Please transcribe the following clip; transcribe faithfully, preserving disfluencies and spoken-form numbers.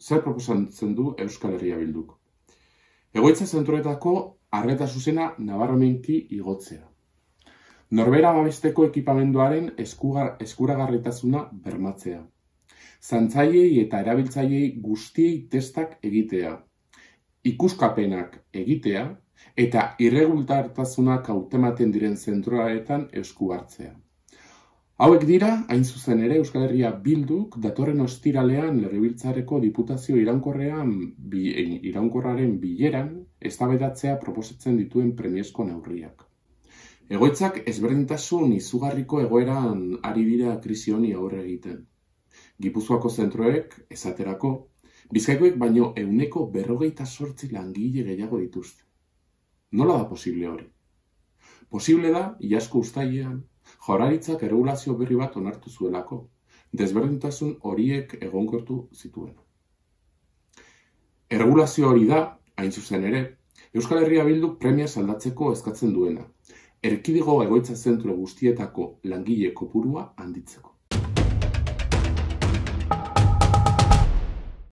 zer proposatzen du Euskal Herria Bilduk? Egoitza zentroetako arreta zuzena nabarmenki igotzea. Norbera babesteko ekipamenduaren eskuragarritasuna bermatzea. Zantzailei eta erabiltzaileei guztiei testak egitea. Ikuskapenak egitea eta irregulartasunak hautematen diren zentroetan esku hartzea. Hauek dira, hain zuzen ere, Euskal Herria Bilduk datorren ostiralean Legebiltzarreko Diputazio iraunkorrean iraunkorraren bileran eztabaidatzea proposatzen dituen premiazko neurriak. Egoitzak ezberdintasun izugarriko egoeran ari dira krisi honi aurre egiten. Gipuzkoako zentroek, esaterako, Bizkaikoek baino ehuneko berrogeita zortzi langile gehiago dituzte. Nola da posible hori? Posible da, iazko uztailean, Jaurlaritzak erregulazio berri bat onartu zuelako, desberdintasun horiek egonkortu zituen. Erregulazio hori da, hain zuzen ere, Euskal Herria Bilduk premiaz aldatzeko eskatzen duena, erkidego egoitza zentro guztietako langile kopurua handitzeko.